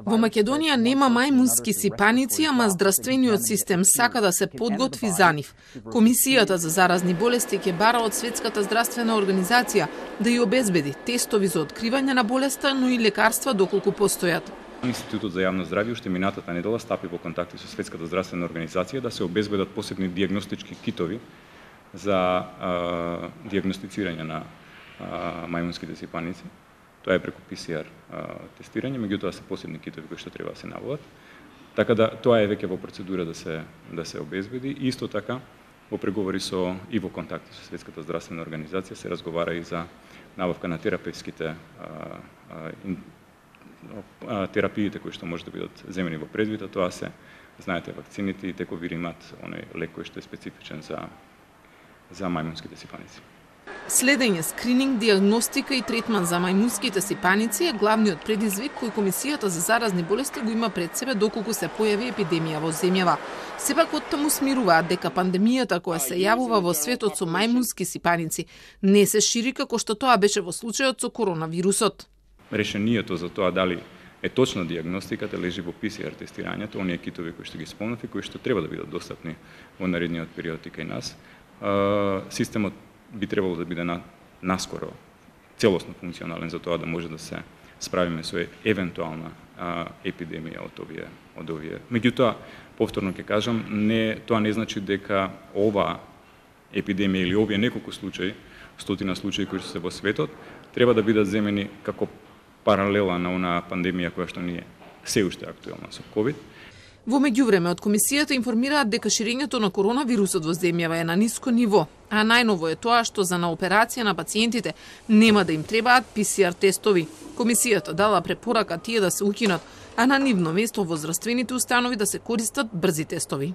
Во Македонија нема мајмунски сипаници, ама здравствениот систем сака да се подготви за нив. Комисијата за заразни болести ќе бара од Светската здравствена организација да ја обезбеди тестови за откривање на болеста, но и лекарства доколку постојат. Институтот за јавно здравје уште минатата недела стапи во контакти со Светската здравствена организација да се обезбедат посебни дијагностички китови за дијагностицирање на мајмунските сипаници. Тоа е преку PCR тестирање, меѓутоа се посебни китови кои што треба да се набават. Така да тоа е веќе во процедура да се обезбеди. Исто така во преговори и во контакти со Светската здравствена организација се разговара и за набавка на терапевските терапиите кои што може да бидат земени во предвид, тоа се, знаете, вакцините и тековиримат, оној лек кој што е специфичен за мајмунските сипаници. Следење, скрининг, дијагностика и третман за мајмунските сипаници е главниот предизвик кој Комисијата за заразни болести го има пред себе доколку се појави епидемија во земјава. Сепак оттаму смируваат дека пандемијата која се јавува во светот со мајмунски сипаници не се шири како што тоа беше во случајот со коронавирусот. Решението за тоа дали е точна дијагностиката лежи во PCR тестирањето, оние китови кои што ги спомнав и кои што треба да бидат достапни во наредниот период и кај нас. Системот би требало да биде наскоро целосно функционален за тоа да може да се справиме со евентуална епидемија од овие. Меѓутоа, повторно ќе кажам, тоа не значи дека ова епидемија или овие неколку случаи, стотина случаи кои што се во светот, треба да бидат земени како паралела на онаа пандемија која што ни е се уште актуелна со COVID. Во меѓувреме, од Комисијата информираат дека ширењето на коронавирусот во земјава е на ниско ниво, а најново е тоа што за на операција на пациентите нема да им требаат PCR тестови. Комисијата дала препорака тие да се укинат, а на нивно место во здравствените установи да се користат брзи тестови.